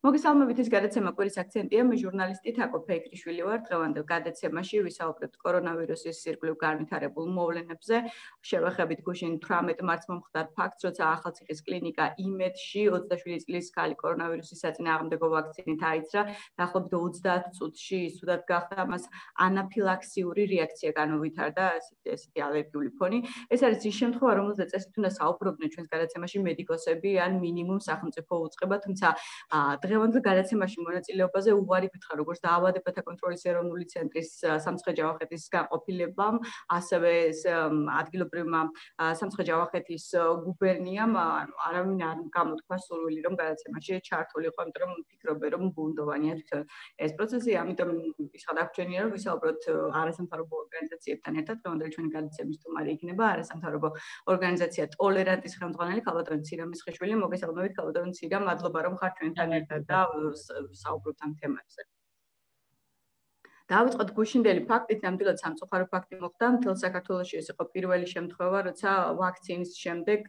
მოგესალმებით, ეს გადაცემა კვირის აქცენტია. მე ჟურნალისტი თაკო ფეიქრიშვილი ვარ. დღევანდელ გადაცემაში ვისაუბრებთ კორონავირუსის სირგვლივ განვითარებულ მოვლენებზე. შევეხებით გუშინ 18 მარტს მომხდარ ფაქტს, როცა ახალციხის კლინიკა იმედში 27 წლის ქალი კორონავირუსის საწინააღმდეგო ვაქცინით აიძრა. დაახლოებით 30 წუთში ისუდად გახდა, მას ანაფილაქსიური რეაქცია განუვითარდა, ესეთი ალერგიული ფონი. ეს არის ის შემთხვევა, რომელზეც წესით უნდა საუბრობდნენ ჩვენს გადაცემაში მედიკოსები ან მინიმუმ სახელმწიფო უწყება, თუმცა დღევანდელ გადაცემაში მონაწილეობაზე უარი გითხრა როგორც დაავადებათა კონტროლის ეროვნული ცენტრის სამცხე-ჯავახეთის განყოფილებამ, ასევე ადგილობრივმა სამცხე-ჯავახეთის გუბერნიამ არავინ არ გამოთქვა სურვილი, რომ გადაცემაში ჩართულიყო, იმიტომ რომ ფიქრობენ, რომ ბუნდოვანია თვითონ ეს პროცესი, ამიტომ ისხად აღჩენია, რომ ვისაუბროთ არასამთავრობო ორგანიზაციებთან ერთად. დღევანდელი ჩვენი გადაცემის სტუმარი იქნება არასამთავრობო ორგანიზაცია ტოლერანტის ხელმძღვანელი ქალბატონი ცირა მესხიშვილი. მოგესალმებით ქალბატონი ცირა, მადლობა რომ ხართ ჩვენთან ერთად და საუბრობთ ამ თემებზე. დავიწყოთ გუშინდელი ფაქტით, ნამდვილად სამწუხარო ფაქტი მოხდა. მთელ საქართველოში ეს იყო პირველი შემთხვევა, როცა ვაქცინის შემდეგ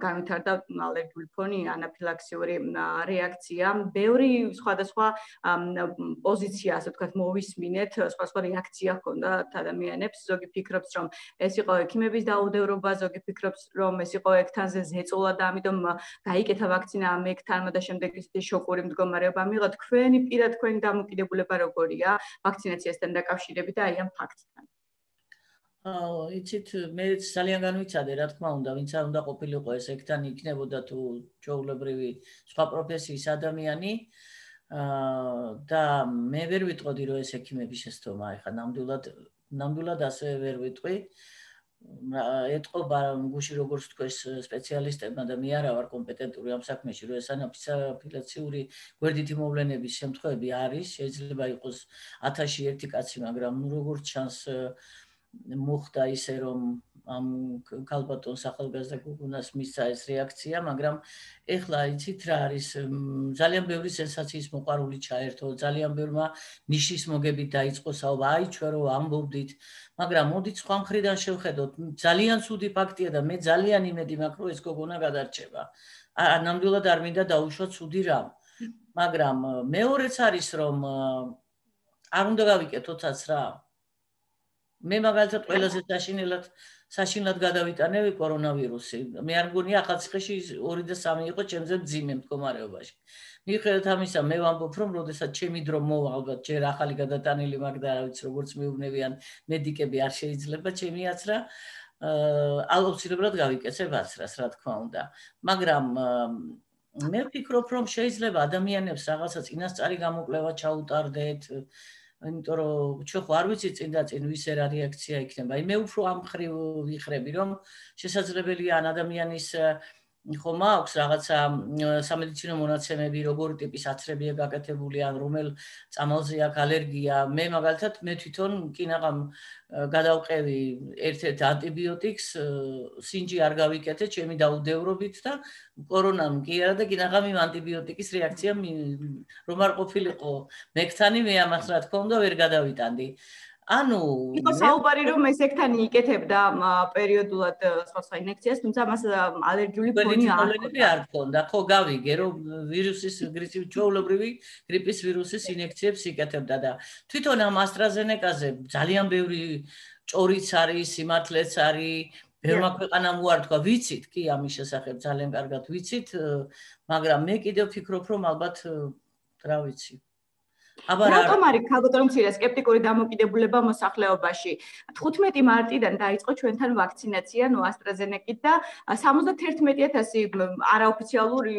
განვითარდა ალერგიული ფონი, ანაფილაქსიური რეაქცია. ბევრი სხვადასხვა პოზიცია, ასე ვთქვათ, მოვისმინეთ, სხვადასხვა რეაქცია ჰქონდათ ადამიანებს. ზოგი ფიქრობს, რომ ეს იყო ექიმების დაუდევრობა, ზოგი ფიქრობს, რომ ეს იყო ექთანზე ზეწოლა და ამიტომ გაიკეთა ვაქცინა ამ ექთანმა და შემდეგ ისეთი შოკური მდგომარეობა მიიღო. თქვენი დამოკიდებულება როგორია? ვაქცინაციასთან დაკავშირებით და აი ამ ფაქტთან. იცით, მე ძალიან განვიცადე, რა თქმა უნდა, ვინც არ უნდა ყოფილიყო ეს ექთანი იქნებოდა თუ ჩვეულებრივი სხვა პროფესიის ადამიანი და მე ვერ ვიტყოდი, რომ ეს ექიმების შეცდომა, ეხლა ნამდვილად ასე ვერ ვიტყვი. ეტყობა გუში როგორც თქვეს სპეციალისტებმა და მე არა ვარ კომპეტენტური ამ საქმეში, რომ ეს ანაფილაქსიური გვერდითი მოვლენების შემთხვევები არის, შეიძლება იყოს 1000-ში 1 კაცი, მაგრამ როგორც ჩანს მოხდა ისე, რომ ამ ქალბატონს ახალგაზრდა გოგონას მისცა ეს რეაქცია, მაგრამ ეხლა იცით რა არის, ძალიან ბევრი სენსაციის მოყვარული ჩაერთო, ძალიან ბევრმა ნიშის მოგებით დაიწყო საუბარი, აი ჩვენ რო ამბობდით, მაგრამ მოდით სხვა მხრიდან შევხედოთ, ძალიან ცუდი ფაქტია და მე ძალიან იმედი მაქვს, რომ ეს გოგონა გადარჩება. ნამდვილად არ მინდა დაუშვა ცუდი რამ, მაგრამ მეორეც არის, რომ არ უნდა გავიკეთოთაც რა. მე მაგალითად ყველაზე საშინლად გადავიტანები კორონავირუსი. მე არ მგონია ახალციხეში 2 და 3 იყო ჩემზე მძიმე მდგომარეობაში. მიუხედავად ამისა, მე ვამბობ, რომ როდესაც ჩემი დრო მოვა, ალბათ ჯერ ახალი გადატანილი მაგ და რა ვიცი, როგორც მიუვნებიან მედიკები არ შეიძლება ჩემი აცრა, აუცილებლად გავიკეთებ აცრას, რა თქმა უნდა. მაგრამ მე ვფიქრობ, რომ შეიძლება ადამიანებს რაღაცა წინასწარი გამოკვლევა ჩაუტარდეთ, იმიტომ რომ ჩვენ ხო არ ვიცით წინ და წინ ვის რა რეაქცია იქნება. მე უფრო ამ მხრივ ვიხრები, რომ შესაძლებელია ან ადამიანის ხომ აქვს რაღაცა სამედიცინო მონაცემები, როგორი ტიპის აცრებია გაკეთებული, ან რომელ წამალზე აქვს ალერგია. მე მაგალითად თვითონ კინაღამ გადავყევი ერთ-ერთ ანტიბიოტიკს, სინჯი არ გავიკეთე ჩემი დაუდევრობით და კორონამ კი არა და კინაღამ იმ ანტიბიოტიკის რეაქცია რომ არ ყოფილიყო მექთანი, მე ამას რა თქმა უნდა ვერ გადავიტანდი. ანუ იყო საუბარი რომ ეს ექთანი იკეთებდა პერიოდულად სხვა ინექციას, თუმცა მას ალერგიული ფონი არ ჰქონდა. ხო, გავიგე რომ ვირუსის ჩვეულებრივი გრიპის ვირუსის ინექციებს იკეთებდა და თვითონ ამ AstraZeneca-ზე ძალიან ბევრი ჭორიც არის, სიმართლეც არის, ბევრმა ქვეყანამ უართვა, ვიცით კი ამის შესახებ ძალიან კარგად ვიცით, მაგრამ მე კიდევ ვფიქრობ რომ ალბათ რა ვიცი რატომ არის ქალბატონ მცირე სკეპტიკური დამოკიდებულება მოსახლეობაში? 15 მარტიდან დაიწყო ჩვენთან ვაქცინაცია AstraZeneca-ით და 71000 არაოფიციალური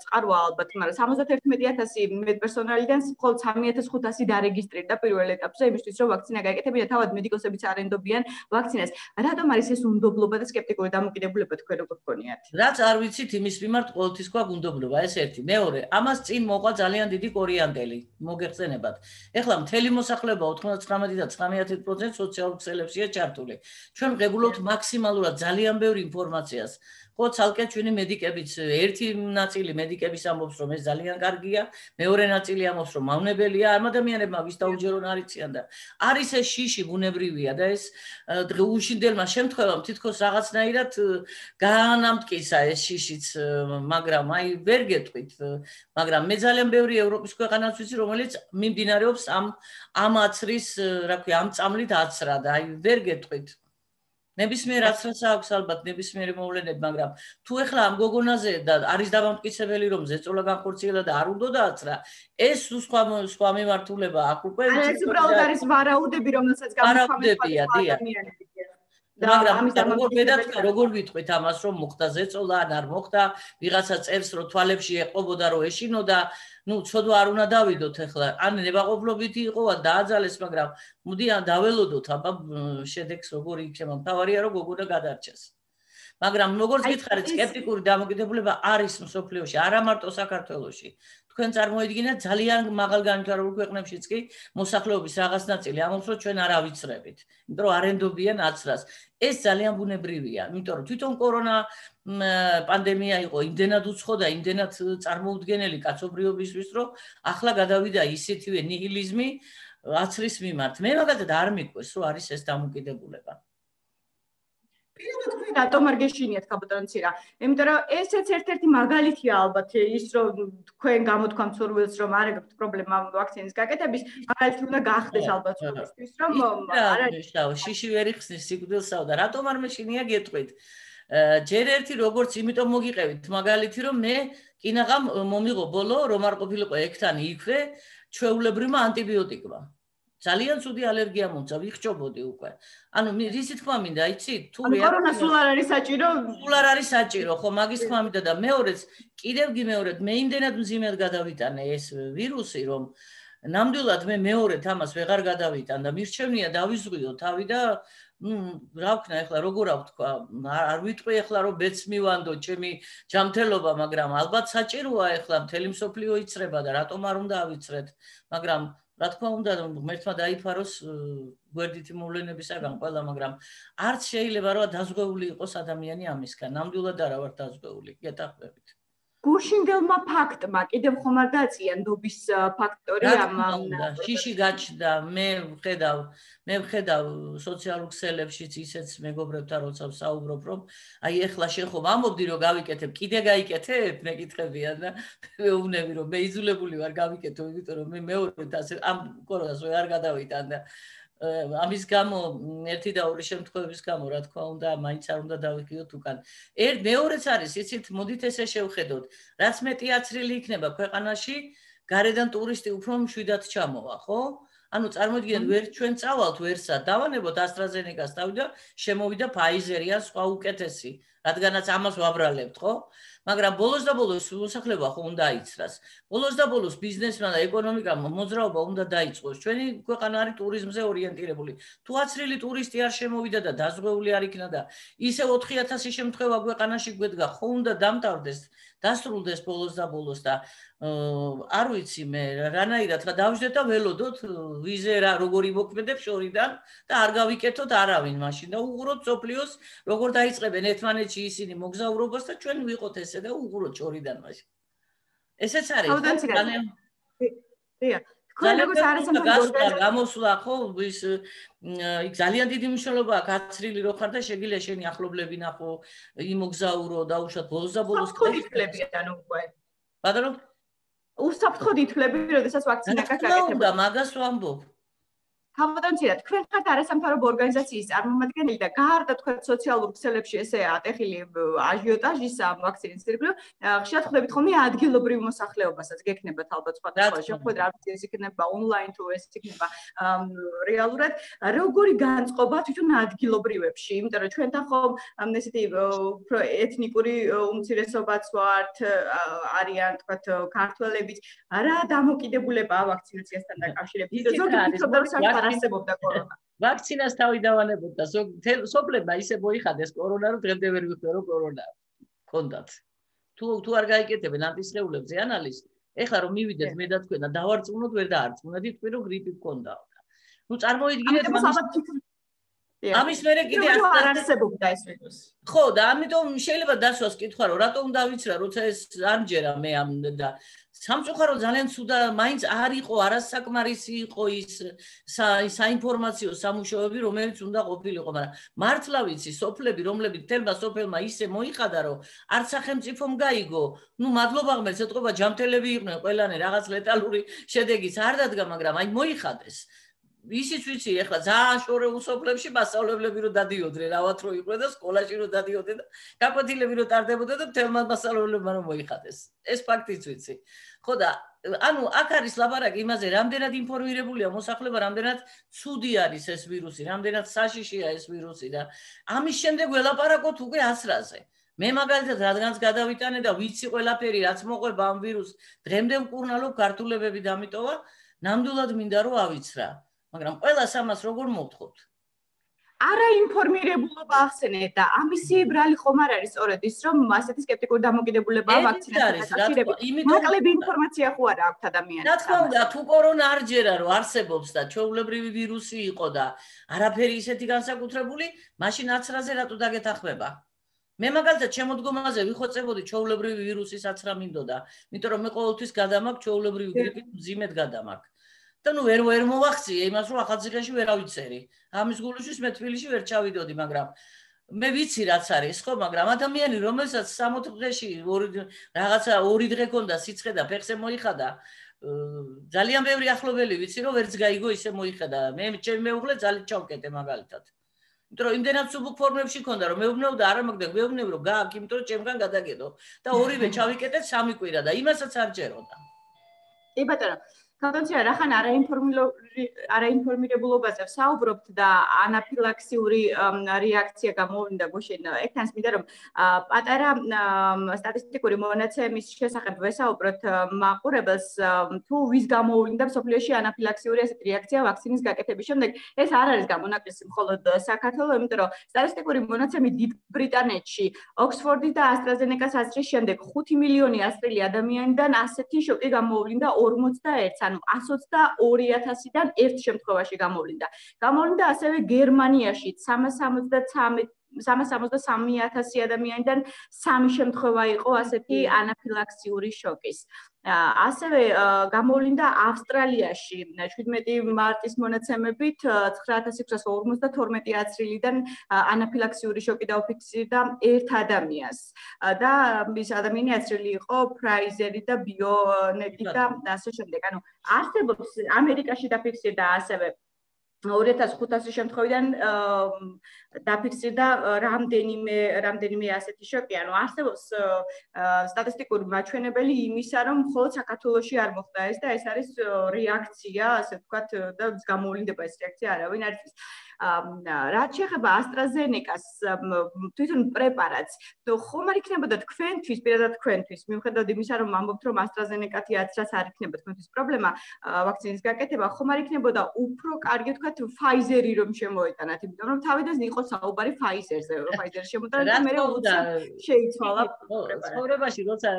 წყაროა ალბათ, მაგრამ 71000 მედპერსონალიდან მხოლოდ 3500 დარეგისტრირდა პირველ ეტაპზე იმისთვის, რომ ვაქცინა გაეკეთებინა, თავად მედიკოსებიც არ ენდობიან ვაქცინას. რატომ არის ეს უნდობლობა და სკეპტიკური დამოკიდებულება თქვენ როგორ გქონიათ? რაც არ ვიცით იმის მიმართ ყოველთვის გვაქვს უნდობლობა, ეს ერთი. მეორე, ამას წინ მოყვა ძალიან დიდი კორიანდელი. მოგეხსენებათ. ეხლა მთელი მოსახლეობა 99 და 19% სოციალურ ქსელებშია ჩართული. ჩვენ ვღებულობთ მაქსიმალურად ძალიან ბევრ ინფორმაციას. ხო ცალკე ჩვენი მედიკებიც ერთი ნაწილი მედიკების ამბობს რომ ეს ძალიან კარგია, მეორე ნაწილი ამბობს რომ მავნებელია ამ ადამიანებმა ვის დაუჯერონ არიციან და არის ეს შიში ბუნებრივია და ეს უშინდელმა შემთხვევამ თითქოს რაღაცნაირად გაანამტკიცა ეს შიშიც, მაგრამ აი ვერ გეტყვით, მაგრამ მე ძალიან ბევრი ევროპის ქვეყანაც ვიცი, რომელიც მიმდინარეობს ამ აცრის, რა ქვია, ამ წამლით აცრა და აი ვერ გეტყვით. ნებისმიერ აცრას აქვს ალბათ ნებისმიერი მოვლენები, მაგრამ თუ ეხლა ამ გოგონაზე და არის დამამტკიცებელი რომ ზეწოლა განხორციელა და არ უნდა აცრა, ეს სხვა მიმართულება აქ უკვე ეს უბრალოდ არის ვარაუდები, რომელსაც გამოხმარებია, მაგრამ როგორ ვიტყვით ამას რომ მოხდა ზეწოლა ან არ მოხდა, ვიღაცა წერს რომ თვალებში ეყობოდა რომ ეშინოდა, ცოდვა არ უნდა დავიდოთ ეხლა, ან ნებაყოფლობითი იყო, ან დააძალეს, მაგრამ მოდი ან დაველოდოთ აბა შედეგს როგორი იქნება, მთავარია რომ გოგონა გადარჩეს. მაგრამ როგორც გითხარით, სკეპტიკური დამოკიდებულება არის მსოფლიოში, არა მარტო საქართველოში. თქვენ წარმოიდგინეთ ძალიან მაღალ განვითარებულ ქვეყნებშიც კი მოსახლეობის რაღაც ნაწილი ამბობს რომ ჩვენ არ ავიცრებით, იმიტომ რომ არენდობიან აცრას. ეს ძალიან ბუნებრივია, იმიტომ რომ თვითონ კორონა პანდემია იყო იმდენად უცხო და იმდენად წარმოუდგენელი კაცობრიობისთვის, რომ ახლა გადავიდა ისეთივე ნიჰილიზმი აცრის მიმართ. მე მაგალითად არ მიყვეს, რომ არის ეს დამოკიდებულება. პირადად რატომ არ გეშინიათ კაპიტანცირა? იმიტომ რომ ესეც ერთ-ერთი მაგალითია ალბათ ის რომ თქვენ გამოთქვამთ სურვილს რომ არ ეგეთ პრობლემა ვაქცინის გაკეთების, მაგალითი უნდა გახდეს ალბათ სურვილისთვის რომ არა შიში ვერ იხსნის სიკვდილსაო და რატომ არ მეშინია გეტყვით? ჯერ ერთი როგორც იმიტომ მოგიყევით მაგალითი რომ მე კინაღამ მომიღო ბოლო რომ არ ყოფილიყო ექთანი იქვე ჩვეულებრივმა ანტიბიოტიკმა. ძალიან ცუდი ალერგია მომცა, ვიხჭობოდი უკვე. ანუ რისი თქმა მინდა, იცით? თუ კორონა სულ არ არის საჭირო? სულ არ არის საჭირო, ხო, მაგის თქმა მინდა და მეორეც, კიდევ გიმეორეთ, მე იმდენად მძიმედ გადავიტანე ეს ვირუსი, რომ ნამდვილად მე მეორედ ამას ვეღარ გადავიტან და მირჩევნია დავიზღვიო თავი და რა ვქნა ეხლა როგორ ავთქვა, არ ვიტყვი ეხლა რომ ბეც მივანდო ჩემი ჯანმრთელობა, მაგრამ ალბათ საჭიროა ეხლა მთელი მსოფლიო იცრება და რატომ არ უნდა ავიცრეთ, მაგრამ რა თქმა უნდა ღმერთმა დაიფაროს გვერდითი მოვლენებისაგან ყველა, მაგრამ არც შეიძლება რომ დაზღვეული იყოს ადამიანი ამისგან, ნამდვილად არა ვარ დაზღვეული, გეტახმებით. გუშინდელმა ფაქტმა კიდევ ხომ არ დაწია ნდობის ფაქტორი ამ შიში გაჩნდა, მე ვხედავ სოციალურ ქსელებშიც ისეც მეგობრებთან როცა ვსაუბრობ, რომ აი ეხლა შენ ხომ ამბობდი რომ გავიკეთებ, კიდე გაიკეთებ, მეკითხებიან და მეუბნები რომ მე იძულებული ვარ გავიკეთო, იმიტომ რომ მე მეორედ ასე ამ კორონას ვერ გადავიტან და ამის გამო ერთი და ორი შემთხვევების გამო რა თქმა უნდა მაინც არ უნდა დავიქიოთ უკან. მეორეც არის, იცით, მოდით ესე შევხედოთ, რაც მეტი აცრილი იქნება ქვეყანაში, გარედან ტურისტი უფრო მშვიდად ჩამოვა, ხო? ანუ წარმოიდგინეთ, ვერ ჩვენ წავალთ ვერსად, დავანებოთ AstraZeneca-ს თავი და შემოვიდა Pfizer-ი ან სხვა უკეთესი, რადგანაც ამას ვაბრალებთ, ხო? მაგრამ ბოლოს და ბოლოს მოსახლეობა ხო უნდა იცრას. ბოლოს და ბოლოს ბიზნესმა და ეკონომიკამ მოძრაობა უნდა დაიწყოს. ჩვენი ქვეყანა არის ტურიზმზე ორიენტირებული. თუ აცრილი ტურისტი არ შემოვიდა და დაზღვეული არ იქნა და ისე 4000 შემთხვევა ქვეყანაში გვედგა, ხო უნდა დამთავრდეს, დასრულდეს ბოლოს და ბოლოს და არ ვიცი მე რანაირად რა დავждეთ და ველოდოთ ვიზე რა როგორი მოქმედებ შორიდან და არ გავიკეთოთ არავინ მაშინ და უღუროთ სოფლიოს როგორ დაიწყებენ ერთმანეთში ისინი მოგზაურობას და ჩვენ ვიყოთ ესე და უღუროთ შორიდან მაშინ ესეც არის ძალიან თქვენ როგორც არასამთავრობო გამოსვლა ხო ის ძალიან დიდი მნიშვნელობა აქვს აცრილი რო ხარ და შეგიძლია შენი ახლობლები ნახო იმოგზაურო და უშუალოდ ბოლოს და ბოლოს ყოფილებიან უკვე ბატონო უსაფრთხოდ ითვლები, როდესაც ვაქცინა გაკეთება. მაგას ვამბობ. თავდაცვით, თქვენ ხართ არასამთავრობო ორგანიზაციის წარმომადგენელი და გარდა თქვენ სოციალურ ქსელებში ესე ატეხილი აჟიოტაჟის ამ ვაქცინის ირგვლივ, ხშირად ხვდებით ხოლმე ადგილობრივ მოსახლეობასაც გექნებათ ალბათ სხვადასხვა შეხვედრა, ეს იქნება ონლაინ თუ ეს იქნება რეალურად, როგორი განწყობა თვითონ ადგილობრივებში, იმიტომ რომ ჩვენთან ხომ ესეთი უფრო ეთნიკური უმცირესობაც ვართ, არიან თქვათ ქართველებიც, რა დამოკიდებულება ვაქცინაციასთან დაკავშირებით, ზოგადად ფიქრობდა რომ არსებობდა კორონა. ვაქცინას თავი დავანებოდა, სოფლებმა ისე მოიხადეს კორონა, რომ დღემდე ვერ ვიხვდე რომ კორონა ჰქონდათ. თუ არ გაიკეთებენ ანტისხეულებზე ანალიზს, ეხლა რომ მივიდეთ მე და თქვენ და დავარწმუნოთ ვერ დაარწმუნეთ, თქვენ რომ გრიპი ჰქონდაო. წარმოიდგინეთ ამის მერე კიდე არ არსებობდა ეს ვირუსი. ხო, და ამიტომ შეიძლება დასვას კითხვა, რომ რატომ დავიცრა, როცა ეს არ მჯერა მე ამ და სამწუხარო ძალიან ცუდა მაინც არ იყო არასაკმარისი იყო ის საინფორმაციო სამუშაოები, რომელიც უნდა ყოფილიყო, მაგრამ მართლა ვიცი, სოფლები, რომლებიც თელმა სოფელმა ისე მოიხადა, რომ არც სახელმწიფომ გაიგო, ნუ მადლობა ღმერთს, ეთყობა ჯამთელები იყვნენ ყველანი რაღაც ლეტალური შედეგიც არ დადგა, მაგრამ აი მოიხადეს. ისიც ვიცი, ეხლა ძალიან შორეულ სოფლებში მასწავლებლები რო დადიოდნენ, რავათ რო იყვნენ და სკოლაში რო დადიოდნენ და გაკვეთილები რო ტარდებოდა და თელმა მასწავლებლებმა რომ მოიხადეს. ეს ფაქტიც ვიცი. ხო და ანუ აქ არის ლაპარაკი იმაზე, რამდენად ინფორმირებულია მოსახლეობა, რამდენად ცუდი არის ეს ვირუსი, რამდენად საშიშია ეს ვირუსი და ამის შემდეგ ველაპარაკოთ უკვე ასრაზე. მე მაგალითად რადგანაც გადავიტანე და ვიცი ყველაფერი რაც მოყვება ამ ვირუსს, დღემდე მკურნალობ ქართულებები დამიტოვა, ნამდვილად მინდა რომ ავიცრა. მაგრამ ყველას ამას როგორ მოვთხოვთ? არაინფორმირებულობა ახსენეთ და ამისი ბრალი ხომ არ არის სწორედ ის, რომ ასეთი სკეპტიკური დამოკიდებულება ვაქცინაციაზე. მაკლები ინფორმაცია ხო არა აქვთ ადამიანებს? რა თქმა უნდა, თუ კორონა არ ჯერა რომ არსებობს და ჩვეულებრივი ვირუსი იყო და არაფერი ისეთი განსაკუთრებული, მაშინ აცრაზე რატო დაგეთანხმება? მე მაგალითად შემოდგომაზე ვიხოცებოდი ჩვეულებრივი ვირუსის აცრა მინდოდა, იმიტომ რომ მე ყოველთვის გადამაქვს ჩვეულებრივი გრიპით მძიმედ გადამაქვს. და ნუ ვერ მოვახციე იმას, რომ ახალციხეში ვერ ავიცერი. ამის გულისთვის მე თბილისში ვერ ჩავიდოდი, მაგრამ მე ვიცი რაც არის, ხო, მაგრამ ადამიანი, რომელსაც 60 დღეში რაღაცა 2 დღე ქონდა სიცხე და ფეხზე მოიხადა, ძალიან ბევრი ახლობელი ვიცი, რომ ვერც გაიგო ისე მოიხადა. მე ჩემი მეუღლე ძალიან ჩავკეტე მაგალითად. იმიტომ რომ იმდენად სუბუქ ფორმებში ქონდა, რომ მეუბნეო და არა მაგდა, მეუბნეო რომ გააქვს, იმიტომ რომ ჩემგან გადაგედო და ორივე ჩავიკეტეთ 3 კვირა და იმასაც არ ჯეროდა. კი ბატონო, კონდიცია რახან არაინფორმირებულობაზე ვსაუბრობთ და ანაფილაქსიური რეაქცია გამოვიდა გუშინ. ერთანს მინდა რომ პატარა სტატისტიკური მონაცემის შესახებ ვესაუბროთ მაყურებელს, თუ ვის გამოვლინდა მსოფლიოში ანაფილაქსიური ესეთი რეაქცია ვაქცინის გაკეთების შემდეგ. ეს არ არის გამონაკლისი მხოლოდ საქართველოს, იმიტომ რომ სტატისტიკური მონაცემი დიდ ბრიტანეთში, ოქსფორდის და ასტრაზენეკას აზრის შემდეგ 5 მილიონი ასწრილი ადამიანიდან ასეთი შოკი გამოვლინდა 41-ს. ანუ 122,000-დან ერთ შემთხვევაში გამოვლინდა. გამოვლინდა ასევე გერმანიაში 363,000 ადამიანიდან 3 შემთხვევა იყო ასეთი ანაფილაქსიური შოკის. ასევე გამოვლინდა ავსტრალიაში 17 მარტის მონაცემებით 9,652 აცრილიდან ანაფილაქსიური შოკი დაუფიქსირდა ერთ ადამიანს და ის ადამიანი აცრილი იყო Pfizer-ი და BioNTech და ასე შემდეგ. ანუ არსებობს ამერიკაში დაფიქსირდა ასევე 2500 შემთხვევიდან დაფიქსირდა რამდენიმე ასეთი შოკი. ანუ არსებობს სტატისტიკური მაჩვენებელი იმისა, რომ მხოლოდ საქართველოში არ მოხდა ეს და ეს არის რეაქცია, ასე ვთქვათ, და გამოვლინდება ეს რეაქცია არავინ არ იცის. რაც შეეხება AstraZeneca-ს თვითონ პრეპარატს, ხომ არ იქნებოდა თქვენთვის, პირადად თქვენთვის, მიუხედავად იმისა, რომ ამბობთ, რომ AstraZeneca-თი აცრას არ იქნება თქვენთვის პრობლემა ვაქცინის გაკეთება, ხომ არ იქნებოდა უფრო კარგი თქვათ Pfizer-ი რომ შემოეტანათ, იმიტომ რომ თავიდან იყო საუბარი Pfizer-ზე, Pfizer-ი შემოტანა და მე შეიცვალა ცხოვრებაში, როცა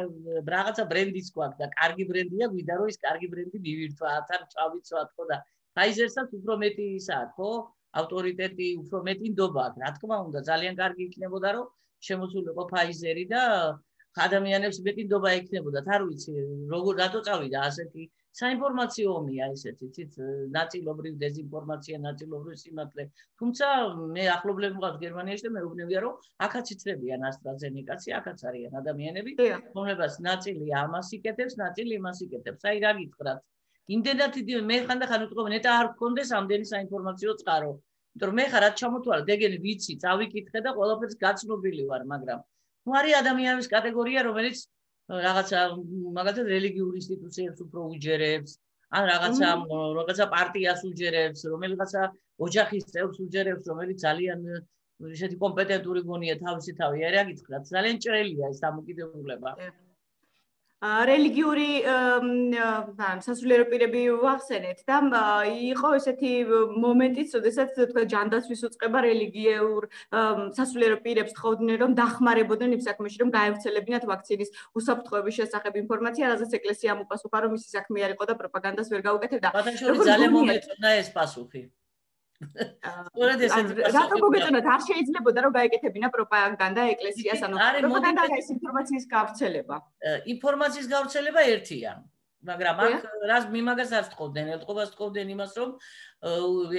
რაღაცა ბრენდის გვაქვს და კარგი ბრენდია, გვიდა რომ ის კარგი ბრენდი მივირთვა, თან წავიცვათ ხო და Pfizer-საც უფრო მეტი ისაა, ხო? ავტორიტეტი უფრო მეტი ნდობა აქვს. რა თქმა უნდა, ძალიან კარგი იქნებოდა, რომ შემოსულიყო Pfizer-ი და ადამიანებს მეტი ნდობა ექნებოდა. არ ვიცი, როგორ რატო წავიდა ასეთი საინფორმაციო ომია ესეთი, ცით ნაწილობრივ დეზინფორმაცია, ნაწილობრივ სიმართლე. თუმცა მე ახლობლები მყავს გერმანიაში და მეუბნებია, რომ აქაც იცრებიან AstraZeneca-ს, აქაც არიან ადამიანები, რომლებსაც ნაწილი ამას იკეთებს, ნაწილი იმას იკეთებს. აი რა გითხრათ? იმდენად მე ხანდახან ვიტყობ, ნეტა არ გქონდეს ამდენი საინფორმაციო წყარო. იმიტომ რომ მე ხარ რაც ჩამოთვალე, დეგენი ვიცი, წავიკითხე და ყველაფერს გაცნობილი ვარ, მაგრამ ნუ არის ადამიანების კატეგორია, რომელიც რაღაცა მაგალითად რელიგიურ ინსტიტუციებს უფრო უჯერებს, ან რაღაცა პარტიას უჯერებს, რომელიღაცა ოჯახის წევრს უჯერებს, რომელიც ძალიან ისეთი კომპეტენტური გონია თავისი თავი. აი რა გითხრათ, ძალიან ჭრელია ეს დამოკიდებულება. რელიგიური სასულიერო პირები ვახსენეთ და იყო ესეთი მომენტიც, როდესაც თქვა ჯანდაცვის უწყება რელიგიურ სასულიერო პირებს თხოვდნენ, რომ დახმარებოდნენ იმ საქმეში, რომ გაევრცელებინათ ვაქცინის უსაფრთხოების შესახებ ინფორმაცია, რაზეც ეკლესიამ უპასუხა, რომ მისი საქმე არ იყო და პროპაგანდას ვერ გაუკეთებდა. ბატონო, ძალიან მომეწონა ეს პასუხი. სწორედ ესეთი რატო მოგეწონათ არ შეიძლებოდა რომ გაეკეთებინა პროპაგანდა ეკლესიას ანუ პროპაგანდა ეს ინფორმაციის გავრცელება ინფორმაციის გავრცელება ერთია მაგრამ აქ რას მიმაგას არ თხოვდნენ ელტყობას თხოვდნენ იმას რომ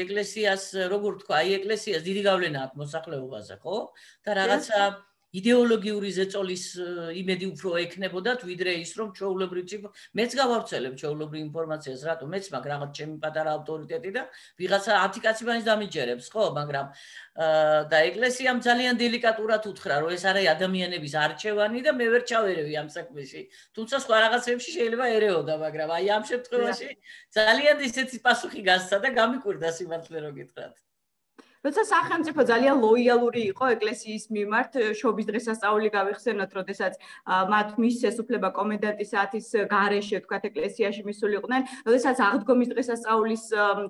ეკლესიას როგორ თქვა აი ეკლესიას დიდი გავლენა აქვს მოსახლეობაზე ხო და რაღაცა იდეოლოგიური ზეწოლის იმედი უფრო ექნებოდათ ვიდრე ის რომ ჩვეულებრივ მეც გავავრცელებ ჩვეულებრივ ინფორმაციას რატო მეც მაგ რაღაც ჩემი პატარა ავტორიტეტი და ვიღაცა 10 კაცი მაინც დამიჯერებს ხო მაგრამ და ეკლესიამ ძალიან დელიკატურად უთხრა რომ ეს არის ადამიანების არჩევანი და მე ვერ ჩავერევი ამ საქმეში თუმცა სხვა რაღაცებში შეიძლება ერეოდა მაგრამ აი ამ შემთხვევაში ძალიან ისეთი პასუხი გასცა და გამიკვირდა სიმართლე რო გითხრათ როცა სახელმწიფო ძალიან ლოიალური იყო ეკლესიის მიმართ, შობის დღესასწაული გავიხსენოთ, როდესაც მათ მისცეს უფლება კომენდანტის საათის გარეშე, თქვათ, ეკლესიაში მისულიყვნენ, როდესაც აღდგომის დღესასწაულის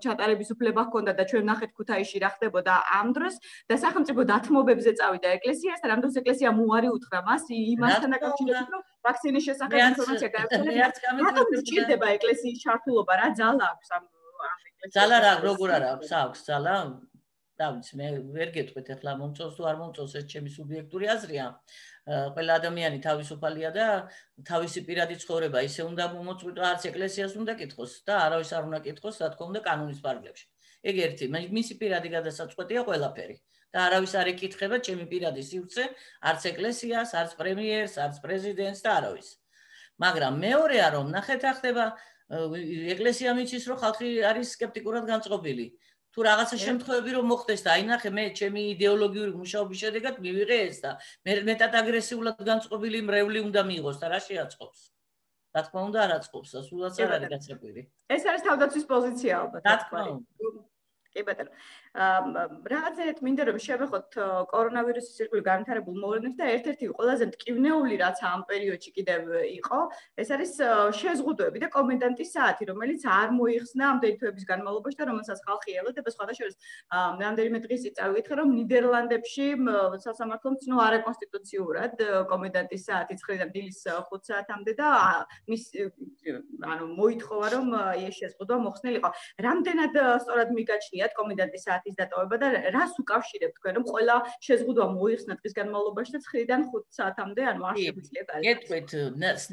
ჩატარების უფლება ჰქონდა და ჩვენ ნახეთ ქუთაისში რა ხდებოდა ამ დროს და სახელმწიფო დათმობებზე წავიდა ეკლესიას და რამდენს ეკლესიამ უარი უთხრა მას იმასთან დაკავშირებით, რომ ვაქცინის შესახებ ინფორმაცია გაეცელებინა. რატომ სჭირდება ეკლესიის ჩართულობა, რა ძალა აქვს ამ ეკლესიას? ძალა რა, როგორ არა აქვს ძალა? დავიც მე ვერ გეტყვით ახლა მომწონს თუ არ მომწონს ეს ჩემი სუბიექტური აზრია ყველა ადამიანი თავისუფალია და თავისი პირადი ცხოვრება ისე უნდა მოწყვიტოს არც ეკლესიას უნდა კითხოს და არავის არ უნდა კითხოს რა თქმა უნდა კანონის ფარგლებში ეგ ერთი მისი პირადი გადასაწყვეტია ყველაფერი და არავის არ ეკითხება ჩემი პირადი სივრცე არც ეკლესიას არც პრემიერს არც პრეზიდენტს და არავის მაგრამ მეორეა რომ ნახეთ რა ხდება ეკლესია მიცის რომ ხალხი არის სკეპტიკურად განწყობილი თუ რაღაცა შემთხვევები რომ მოხდეს და აი ნახე მე ჩემი იდეოლოგიური მუშაობის შედეგად მივიღე ეს და მე მეტად აგრესიულად განწყობილი მრევლი უნდა მიიღოს და რა შეაწყობს რა თქმა უნდა არ აწყობს და სულაც არ არის გაწეკვირი ეს არის თავდაცვის პოზიცია ალბათ რა თქმა უნდა კი ბატონო რაღაცეთ მინდა რომ შევეხოთ კორონავირუსის ირგვლივ განვითარებულ მოვლენებს და ერთ-ერთი ყველაზე მტკივნეული რაც ამ პერიოდში კიდევ იყო ეს არის შეზღუდვები და კომენდანტის საათი რომელიც არ მოიხსნა ამდენი თვეების განმავლობაში და რომელსაც ხალხი ელოდება სხვადასხვა რამდენიმე დღის წინ წავიკითხე რომ ნიდერლანდებში სასამართლომ ცნო არაკონსტიტუციურად კომენდანტის საათი 9-დან დილის 5 საათამდე და მის ანუ მოითხოვა რომ ეს შეზღუდვა მოხსნილიყო რამდენად სწორად მიგაჩნიათ კომენდანტის საათის დატოვება და რას უკავშირებთ თქვენ რომ ყველა შეზღუდვა მოიხსნა დღის განმავლობაში და 9-დან 5 საათამდე ანუ არ შეგვიძლია გარკვეულ. გეტყვით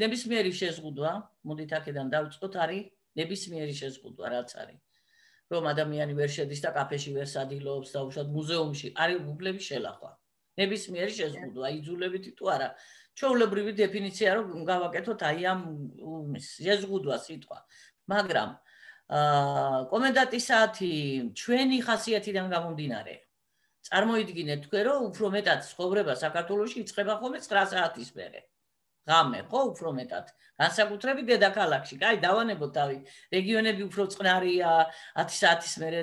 ნებისმიერი შეზღუდვა, მოდით აქედან დავიწყოთ, არის ნებისმიერი შეზღუდვა, რაც არის. რომ ადამიანი ვერ შედის და კაფეში ვერ სადილობს და უშუალოდ მუზეუმში არის უფლების შელახვა. ნებისმიერი შეზღუდვა, იძულებითი თუ არა. ჩვეულებრივი დეფინიცია რომ გავაკეთოთ აი ამ შეზღუდვა სიტყვა. მაგრამ კომენდანტის საათი ჩვენი ხასიათიდან გამომდინარე. წარმოიდგინეთ თქვენ რომ უფრო მეტად ცხოვრება საქართველოში იწყება ხოლმე 9 საათის მერე. ღამე ხო უფრო მეტად. განსაკუთრებით დედაქალაქში. კაი დავანებოთ თავი. რეგიონები უფრო წყნარია 10 საათის მერე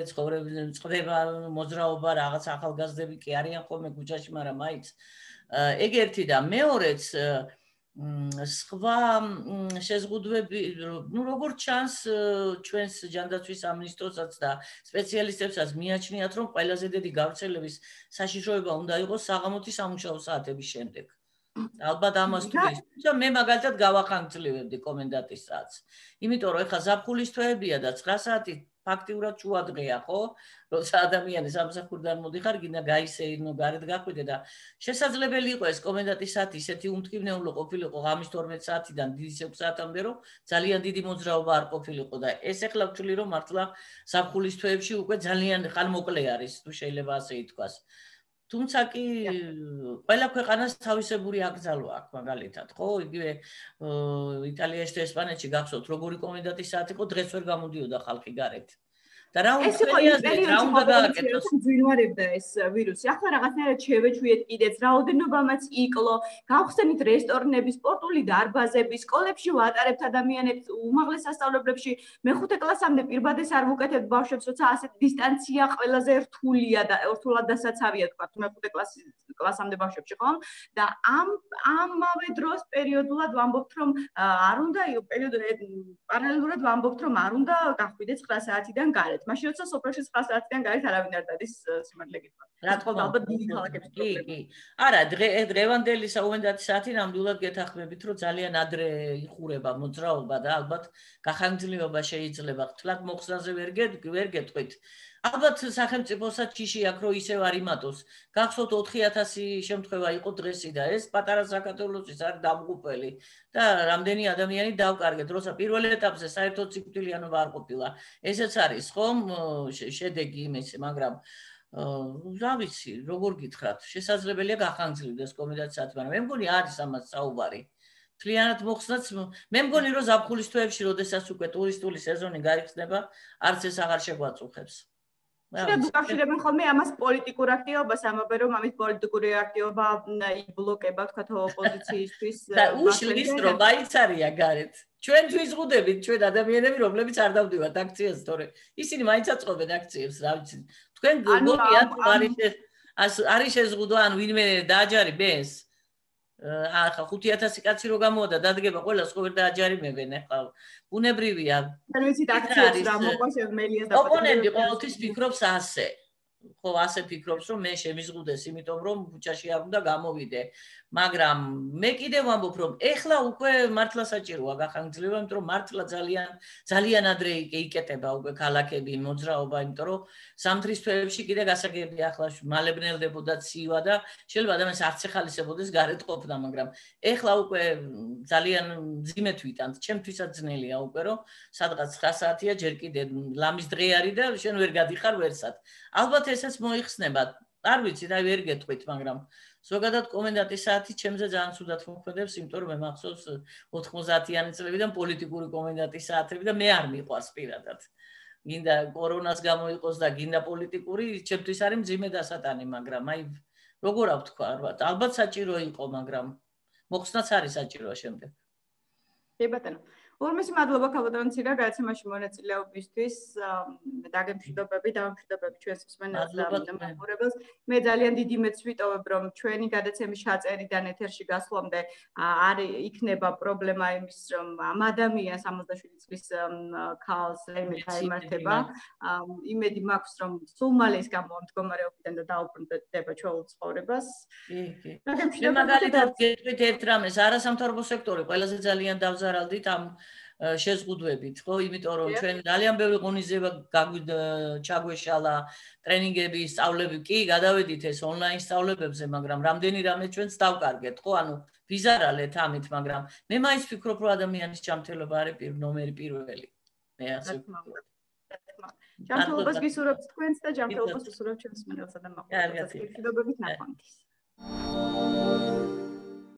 ცხოვრება მოძრაობა რაღაც ახალგაზრდები კი არიან ხოლმე ქუჩაში, მაგრამ მაინც ეგ ერთი და მეორეც სხვა შეზღუდვები ნუ როგორც ჩანს ჩვენს ჯანდაცვის სამინისტროსაც და სპეციალისტებსაც მიაჩნიათ რომ ყველაზე დიდი გავრცელების საშიშროება უნდა იყოს საღამოთი სამუშაო საათების შემდეგ. ალბათ ამას თუ ის თუმცა მე მაგალითად გავახანგრძლივებდი კომენდანტის საათს. იმიტომ რომ ეხლა ზაფხულის თვეებია და 9 საათი ფაქტიურად შუადღეა, ხო? როცა ადამიანი სამსახურიდან მოდიხარ, გინდა გაისეირნო, გარეთ გახვიდე და შესაძლებელი იყო ეს კომენდანტის საათი ისეთი უმტკივნეულო ყოფილიყო ღამის 12 საათიდან დიდი 6 საათამდე, რომ ძალიან დიდი მოძრაობა არ ყოფილიყო და ეს ეხლა ვთვლი რომ მართლა ზაფხულის თვეებში უკვე ძალიან ხანმოკლე არის, თუ შეიძლება ასე ითქვას. თუმცა კი ყველა ქვეყანას თავისებური აკრძალვა აქვს მაგალითად, ხო? იგივე იტალიაში და ესპანეთში გახსოვთ, როგორი კომენდანტის საათი იყო, დღეს ვერ გამოდიოდა ხალხი გარეთ. და რა უნდა გააკეთოს? ძვირვარებდა ეს ვირუსი. ახლა რაღაცნაირად შევეჩვიეთ კიდეც, რაოდენობამაც იკლო. გავხსენით რესტორნები, სპორტული დარბაზები, სკოლებში ვატარებთ ადამიანებს, უმაღლეს სასწავლებლებში მეხუთე კლასამდე პირბადეს არ ვუკეთებთ ბავშვებს, როცა ასეთ დისტანცია ყველაზე რთულია და რთულად დასაცავია თქვა მეხუთე კლასამდე ბავშვებში, ხო? და ამავე დროს პერიოდულად ვამბობთ, რომ არ უნდა პარალელურად ვამბობთ, რომ არ უნდა გახვიდეთ 9 საათიდან გარეთ. მალეთ. მაშინ როცა სოფელში 9 საათიდან გარეთ არავინ არ დადის სიმართლე გითხრათ. რა თქმა უნდა, ალბათ დიდი ქალაქების პრობლემა. კი. არა, დღევანდელი საუბედათი საათი ნამდვილად გეთანხმებით, რომ ძალიან ადრე იხურება მოძრაობა და ალბათ გახანგრძლივება შეიძლება. თლად მოხსნაზე ვერ გეტყვით. ალბათ სახელმწიფოსაც ჯიში აქვს, რომ ისევ არ იმატოს. გახსოვთ 4000 შემთხვევა იყო დღესი და ეს პატარა საქართველოსის არის დამღუპელი და რამდენი ადამიანი დავკარგეთ, როცა პირველ ეტაპზე საერთოდ სიკვდილიანობა არ ყოფილა. ესეც არის ხომ შედეგი იმის, მაგრამ რა ვიცი, როგორ გითხრათ, შესაძლებელია გახანგრძლივდეს კომიტეტის საათი, მაგრამ მე მგონი არის ამას საუბარი. მთლიანად მოხსნაც, მე მგონი რომ ზაფხულის თვეებში, როდესაც უკვე ტურისტული სეზონი გაიხსნება, არც ეს აღარ შეგვაწუხებს. უკავშირებენ ხოლმე ამას პოლიტიკურ აქტივობას, ამბობენ რომ ამის პოლიტიკური აქტივობა იბლოკება თქვათ ოპოზიციისთვის. და უშლის რომ მაინც არია გარეთ. ჩვენ ვიზღუდებით, ჩვენ ადამიანები, რომლებიც არ დავდივართ აქციას, თორე ისინი მაინც აწყობენ აქციებს, რა ვიცი. თქვენ გონიათ არის შეზღუდვა, ან ვინმე დააჯარიმეს? ახლა 5000 კაცი რო გამოვიდა, დადგება ყველას ხო ვერ დააჯარიმებენ ახლა. ბუნებრივია. არ ვიცით აქციებს რა მოყვა შემელიას და ოპონენტი ყოველთვის ფიქრობს ასე. ხო, ასე ფიქრობს, რომ მე შემიზღუდეს, იმიტომ რომ ქუჩაში არ უნდა გამოვიდე. მაგრამ მე კიდევ ვამბობ, რომ ეხლა უკვე მართლა საჭიროა გახანგრძლივება, იმიტომ რომ მართლა ძალიან ადრე იკეტება უკვე ქალაქები, მოძრაობა, იმიტომ რომ ზამთრის თვეებში კიდე გასაგებია ახლა მალებნელდებოდა ცივა და შეიძლება ადამიანს არც ეხალისებოდეს გარეთ ყოფნა, მაგრამ ეხლა უკვე ძალიან მძიმედ ვიტანთ, ჩემთვისაც ძნელია უკვე, რომ სადღაც 9 საათია ჯერ კიდე ლამის დღე არის და შენ ვერ გადიხარ ვერსად. ალბათ ესაც მოიხსნება. არ ვიცი, და ვერ გეტყვით, მაგრამ ზოგადად კომენდანტის საათი ჩემზე ძალიან ცუდად მოქმედებს, იმიტომ რომ მე მახსოვს 90-იანი წლებიდან პოლიტიკური კომენდანტის საათები და მე არ მიყვარს პირადად. გინდა კორონას გამოიყოს და გინდა პოლიტიკური, ჩემთვის არის მძიმე დასატანი, მაგრამ აი როგორ ავთქვა, ალბათ საჭირო იყო, მაგრამ მოხსნაც არის საჭირო შემდეგ. კი ბატონო. ორმესი მადლობა ქალბატონცირა გადაცემაში მონაწილეობისთვის. დაგემშვიდობები ჩვენს მსმენელს და მაყურებელს. მე ძალიან დიდი მეც ვიტოვებ, რომ ჩვენი გადაცემის ჩაწერიდან ეთერში გასვლამდე არ იქნება პრობლემა იმის, რომ ამ ადამიანს 67 წლის ქალს რაიმე დაემართება. იმედი მაქვს, რომ სულ მალე ის გამომდგომარეობიდან და დაუბრუნდება ჩვეულ ცხოვრებას. კი. მე მაგალითად გეტყვით ერთ რამეს, არასამთავრობო სექტორი ყველაზე ძალიან დავზარალდით ამ შეზღუდვებით, ხო, იმიტომ რომ ჩვენ ძალიან ბევრი ღონისძიება ჩაგვეშალა, ტრენინგები, სწავლები, კი, გადავედით ეს ონლაინ სწავლებებზე, მაგრამ რამდენი რამე ჩვენც დავკარგეთ, ხო, ანუ ვიზარალეთ ამით, მაგრამ მე მაინც ვფიქრობ, რომ ადამიანის ჯანმრთელობა არის ნომერი პირველი. მე ასე ვფიქრობ. ჯანმრთელობას გისურვებთ თქვენს და ჯანმრთელობას უსურვებთ ჩვენს მსმენელსა და მაყურებელს. მადლობა ნახვამდის.